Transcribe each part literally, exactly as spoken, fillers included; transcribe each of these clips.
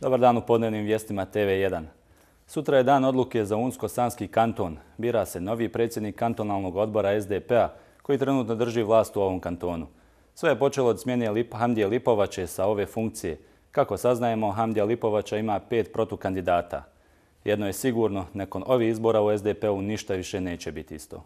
Dobar dan u podnevnim vijestima T V jedan. Sutra je dan odluke za Unsko-Sanski kanton. Bira se novi predsjednik kantonalnog odbora S D P-a koji trenutno drži vlast u ovom kantonu. Sve je počelo od smjene Lip, Hamdije Lipovače sa ove funkcije. Kako saznajemo, Hamdija Lipovača ima pet protukandidata. Jedno je sigurno, nakon ovih izbora u S D P-u ništa više neće biti isto.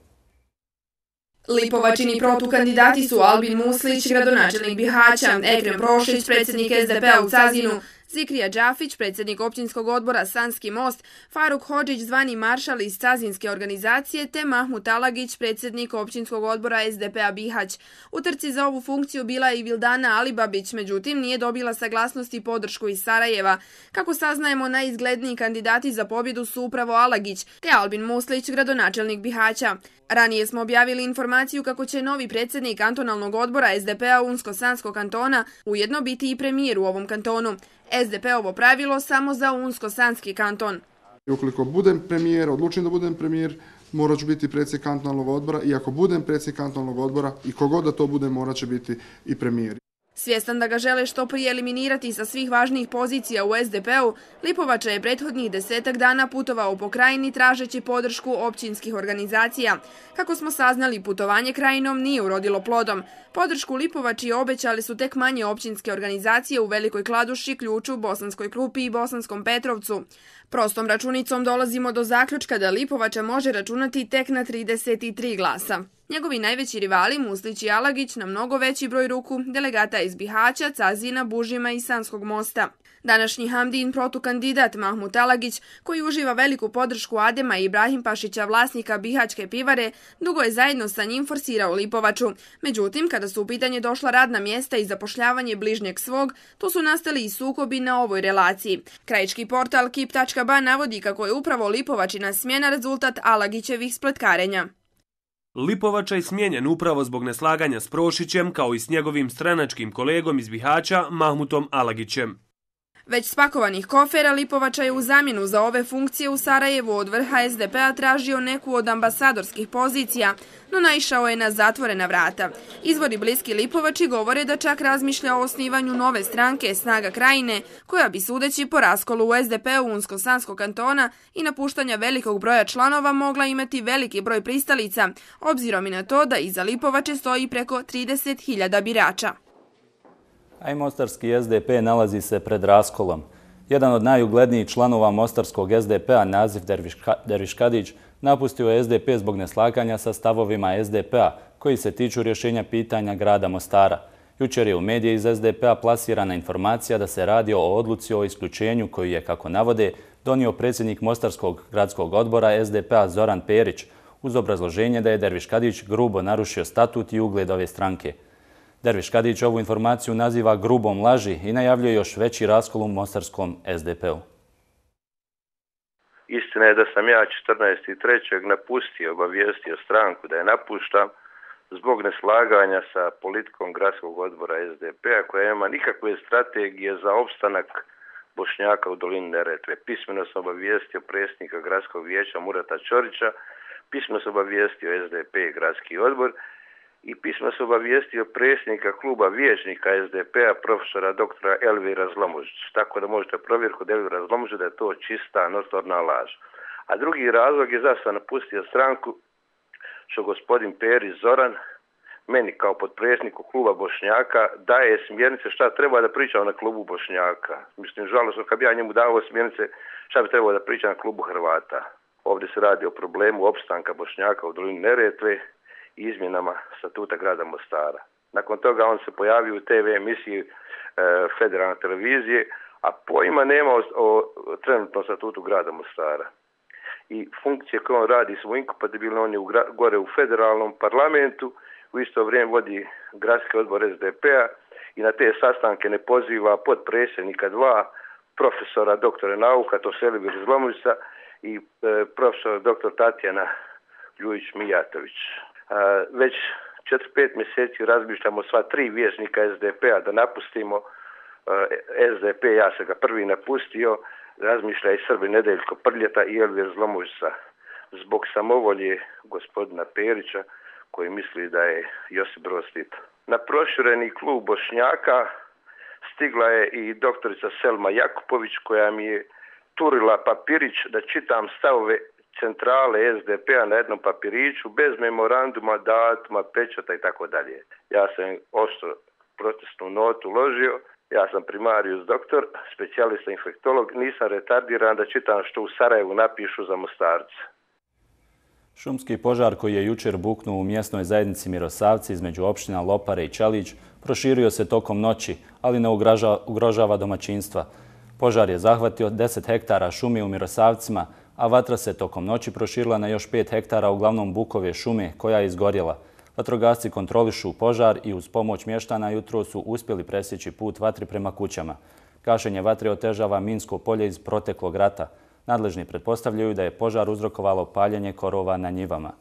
Lipovačini protukandidati su Albin Muslić, gradonačelnik Bihaća, Ekrem Prošić, predsjednik S D P-a u Cazinu, Zikrija Đafić, predsjednik općinskog odbora Sanski most, Faruk Hodžić, zvani maršal iz Cazinske organizacije, te Mahmut Alagić, predsjednik općinskog odbora S D P-a Bihać. U trci za ovu funkciju bila je i Vildana Alibabić, međutim nije dobila saglasnost i podršku iz Sarajeva. Kako saznajemo, najizgledniji kandidati za pobjedu su upravo Alagić, te Albin Muslić, gradonačelnik Bihaća. Ranije smo objavili informaciju kako će novi predsjednik kantonalnog odbora S D P-a Unsko-Sanskog kantona ujedno biti i premijer u ovom kantonu. S D P-ovo pravilo samo za Unsko-Sanski kanton. Ukoliko budem premijer, odlučim da budem premijer, morat ću biti predsjednik kantonalnog odbora i ako budem predsjednik kantonalnog odbora i kogod da to bude, morat će biti i premijer. Svjestan da ga žele što prije eliminirati sa svih važnijih pozicija u S D P-u, Lipovača je prethodnih desetak dana putovao po krajini tražeći podršku općinskih organizacija. Kako smo saznali, putovanje krajinom nije urodilo plodom. Podršku Lipovači obećali su tek manje općinske organizacije u Velikoj Kladuši, Ključu, Bosanskoj Krupi i Bosanskom Petrovcu. Prostom računicom dolazimo do zaključka da Lipovača može računati tek na trideset tri glasa. Njegovi najveći rivali, Muslić i Alagić, na mnogo veći broj ruku delegata iz Bihaća, Cazina, Bužima i Sanskog mosta. Današnji Hamdijin protukandidat Mahmut Alagić, koji uživa veliku podršku Adema i Ibrahim Pašića, vlasnika Bihaćke pivare, dugo je zajedno sa njim forsirao Lipovaču. Međutim, kada su u pitanje došla radna mjesta i zapošljavanje bližnjeg svog, tu su nastali i sukobi na ovoj relaciji. Krajički portal Kip tačka ba navodi kako je upravo Lipovačina smjena rezultat Alagićevih spletkarenja. Lipovača je smijenjen upravo zbog neslaganja s Prošićem kao i s njegovim stranačkim kolegom iz Bihaća, Mahmutom Alagićem. Već spakovanih kofera, Lipovača je u zamjenu za ove funkcije u Sarajevu od vrha S D P-a tražio neku od ambasadorskih pozicija, no naišao je na zatvorena vrata. Izvori bliski Lipovači govore da čak razmišlja o osnivanju nove stranke Snaga krajine, koja bi sudeći po raskolu u S D P-u Unsko-Sanskog kantona i napuštanja velikog broja članova mogla imati veliki broj pristalica, obzirom i na to da iza Lipovače stoji preko trideset hiljada birača. A i mostarski S D P nalazi se pred raskolom. Jedan od najuglednijih članova mostarskog S D P-a, Nazif Derviškadić, napustio je S D P zbog neslaganja sa stavovima S D P-a koji se tiču rješenja pitanja grada Mostara. Jučer je u medije iz S D P-a plasirana informacija da se radi o odluci o isključenju koju je, kako navode, donio predsjednik Mostarskog gradskog odbora S D P-a Zoran Perić uz obrazloženje da je Derviškadić grubo narušio statut i ugled ove stranke. Derviškadić ovu informaciju naziva grubom laži i najavljuje još veći raskol u mostarskom S D P-u. Istina je da sam ja četrnaestog trećeg napustio, obavijestio stranku da je napuštam zbog neslaganja sa politikom gradskog odbora S D P-a koja nema nikakve strategije za opstanak Bošnjaka u dolini Neretve. Pismeno sam obavijestio predsjednika gradskog vijeća Murata Ćorića, pismeno sam obavijestio S D P i gradski odbor i pismo se obavijestio predsjednika kluba vijećnika S D P-a, profesora doktora Elvira Zlomužić. Tako da možete provjeriti kod Elvira Zlomužića da je to čista, notorna laž. A drugi razlog je zašto sam napustio stranku, što gospodin Perić Zoran meni kao potpredsjedniku kluba Bošnjaka daje smjernice šta treba da pričam na klubu Bošnjaka. Mislim, žalosno kad bi ja njemu dao smjernice šta bi trebalo da pričam na klubu Hrvata. Ovdje se radi o problemu opstanka Bošnjaka u dolini Neretve i izmjenama statuta grada Mostara. Nakon toga on se pojavio u T V emisiji e, federalne televizije, a pojma nema o, o trenutnom statutu grada Mostara. I funkcije koje on radi su inkompatibilne, on je u, gore u federalnom parlamentu, u isto vrijeme vodi gradski odbor S D P-a i na te sastanke ne poziva potpredsjednika dva profesora doktora nauka, to su Elvir Zlomužića i e, profesor doktor Tatjana Ljujić-Mijatović. Već četiri pet mjeseci razmišljamo sva tri vijećnika S D P-a da napustimo S D P, ja se ga prvi napustio, razmišlja i Srbi Nedeljko Prljeta i Elvir Zlomužića zbog samovolje gospodina Perića koji misli da je Josip Broz Tito. Na prošireni klub Bošnjaka stigla je i doktorica Selma Jakupović koja mi je turila papirić da čitam stavove centrale es de pe a na jednom papiriću bez memoranduma, datuma, pečata i tako dalje. Ja sam oštro protestnu notu uložio, ja sam primarius doktor, specijalista infektolog, nisam retardiran da čitam što u Sarajevu napišu za Mostarca. Šumski požar koji je jučer buknuo u mjesnoj zajednici Mirosavci između opština Lopare i Čelić proširio se tokom noći, ali ne ugrožava domaćinstva. Požar je zahvatio deset hektara šume u Mirosavcima, a vatra se tokom noći proširila na još pet hektara, uglavnom bukove šume, koja je izgorjela. Vatrogasci kontrolišu požar i uz pomoć mještana jutro su uspjeli presjeći put vatri prema kućama. Gašenje vatre otežava minsko polje iz proteklog rata. Nadležni pretpostavljaju da je požar uzrokovalo paljenje korova na njivama.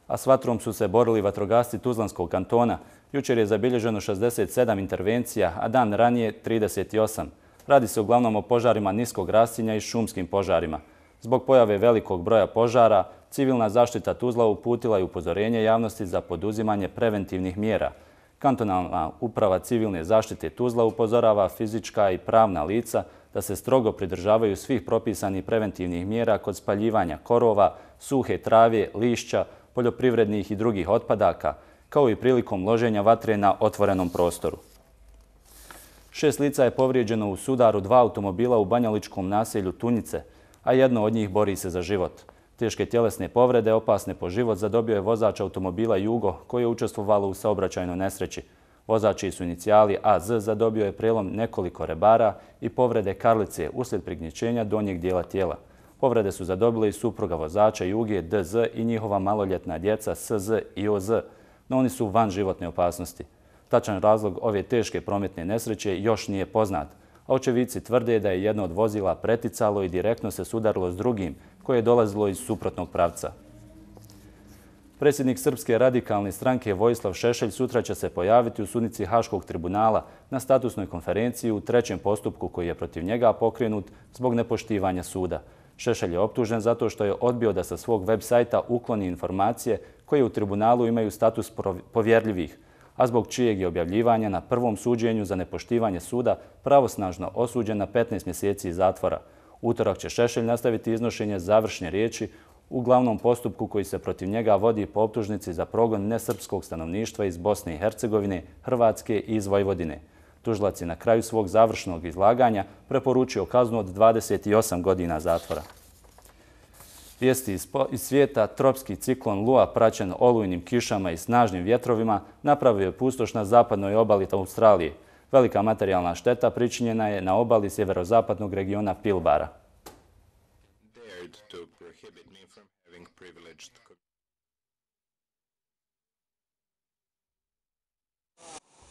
A s vatrom su se borili vatrogasci Tuzlanskog kantona. Jučer je zabilježeno šezdeset sedam intervencija, a dan ranije trideset osam. Radi se uglavnom o požarima niskog rastinja i šumskim požarima. Zbog pojave velikog broja požara, civilna zaštita Tuzla uputila je upozorenje javnosti za poduzimanje preventivnih mjera. Kantonalna uprava civilne zaštite Tuzla upozorava fizička i pravna lica da se strogo pridržavaju svih propisanih preventivnih mjera kod spaljivanja korova, suhe trave, lišća, poljoprivrednih i drugih otpadaka, kao i prilikom loženja vatre na otvorenom prostoru. Šest lica je povrijeđeno u sudaru dva automobila u banjaličkom naselju Tunjice, a jedno od njih bori se za život. Teške tjelesne povrede, opasne po život, zadobio je vozač automobila Jugo koji je učestvovalo u saobraćajnoj nesreći. Vozač čiji su inicijali A Z zadobio je prelom nekoliko rebara i povrede karlice uslijed prignječenja donjeg dijela tijela. Povrede su zadobile i supruga vozača Juge D Z i njihova maloljetna djeca S Z i O Z, no oni su van životne opasnosti. Tačan razlog ove teške prometne nesreće još nije poznat, a očevidci tvrde da je jedno od vozila preticalo i direktno se sudarilo s drugim, koje je dolazilo iz suprotnog pravca. Predsjednik Srpske radikalne stranke Vojislav Šešelj sutra će se pojaviti u sudnici Haškog tribunala na statusnoj konferenciji u trećem postupku koji je protiv njega pokrenut zbog nepoštivanja suda. Šešelj je optužen zato što je odbio da sa svog web sajta ukloni informacije koje u tribunalu imaju status povjerljivih, a zbog čijeg je objavljivanja na prvom suđenju za nepoštivanje suda pravosnažno osuđen na petnaest mjeseci zatvora. Utorak će Šešelj nastaviti iznošenje završne riječi u glavnom postupku koji se protiv njega vodi po optužnici za progon nesrpskog stanovništva iz Bosne i Hercegovine, Hrvatske i iz Vojvodine. Tužilac je na kraju svog završnog izlaganja preporučio kaznu od dvadeset osam godina zatvora. Vijesti iz svijeta: tropski ciklon Lua praćen olujnim kišama i snažnim vjetrovima napravio je pustoš na zapadnoj obali Australije. Velika materijalna šteta pričinjena je na obali sjeverozapadnog regiona Pilbara.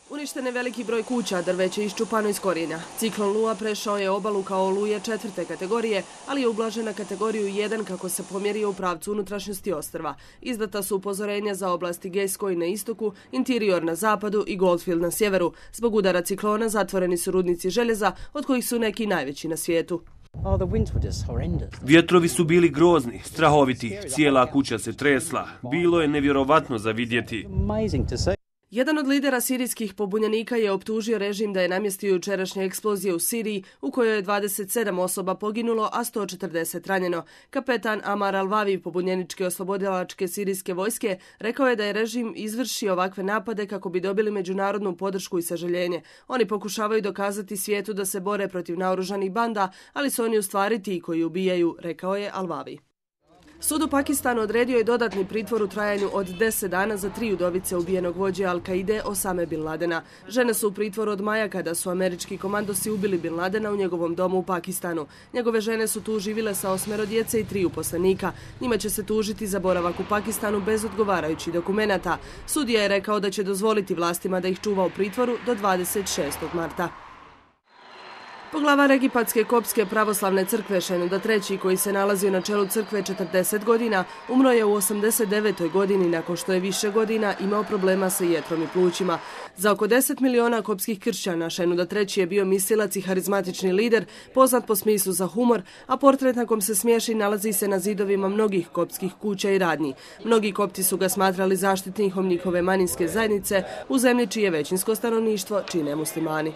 Uništen je veliki broj kuća, drveće iščupano iz korijenja. Ciklon Lua prešao je obalu kao oluje četvrte kategorije, ali je ublažen na kategoriju jedan kako se pomjerio u pravcu unutrašnjosti ostrva. Izdata su upozorenja za oblasti Gascoyne na istoku, Interior na zapadu i Goldfield na sjeveru. Zbog udara ciklona zatvoreni su rudnici željeza, od kojih su neki najveći na svijetu. Vjetrovi su bili grozni, strahoviti, cijela kuća se tresla. Bilo je nevjerovatno za vidjeti. Jedan od lidera sirijskih pobunjenika je optužio režim da je namjestio jučerašnje eksplozije u Siriji u kojoj je dvadeset sedam osoba poginulo, a sto četrdeset ranjeno. Kapetan Amar Al-Vavi pobunjeničke oslobodilačke sirijske vojske rekao je da je režim izvršio ovakve napade kako bi dobili međunarodnu podršku i sažaljenje. Oni pokušavaju dokazati svijetu da se bore protiv naoružanih banda, ali su oni u stvari ti koji ubijaju, rekao je Al-Vavi. Sud u Pakistanu odredio je dodatni pritvor u trajanju od deset dana za tri udovice ubijenog vođe Al-Kaide Osame Bin Ladena. Žene su u pritvoru od maja kada su američki komandosi ubili Bin Ladena u njegovom domu u Pakistanu. Njegove žene su tu živile sa osmero djece i tri uposlenika. Njima će se tužiti za boravak u Pakistanu bez odgovarajućih dokumenata. Sudija je rekao da će dozvoliti vlastima da ih čuva u pritvoru do dvadeset šestog marta. Poglavar Egipatske kopske pravoslavne crkve Šenuda treći, koji se nalazio na čelu crkve četrdeset godina, umro je u osamdeset devetoj godini nakon što je više godina imao problema sa jetrom i plućima. Za oko deset miliona kopskih kršćana Šenuda treći je bio mislilac i harizmatični lider, poznat po smislu za humor, a portret na kom se smiješi nalazi se na zidovima mnogih kopskih kuća i radnji. Mnogi kopti su ga smatrali zaštitnikom njihove manjinske zajednice u zemlji čije većinsko stanovništvo čine muslimani.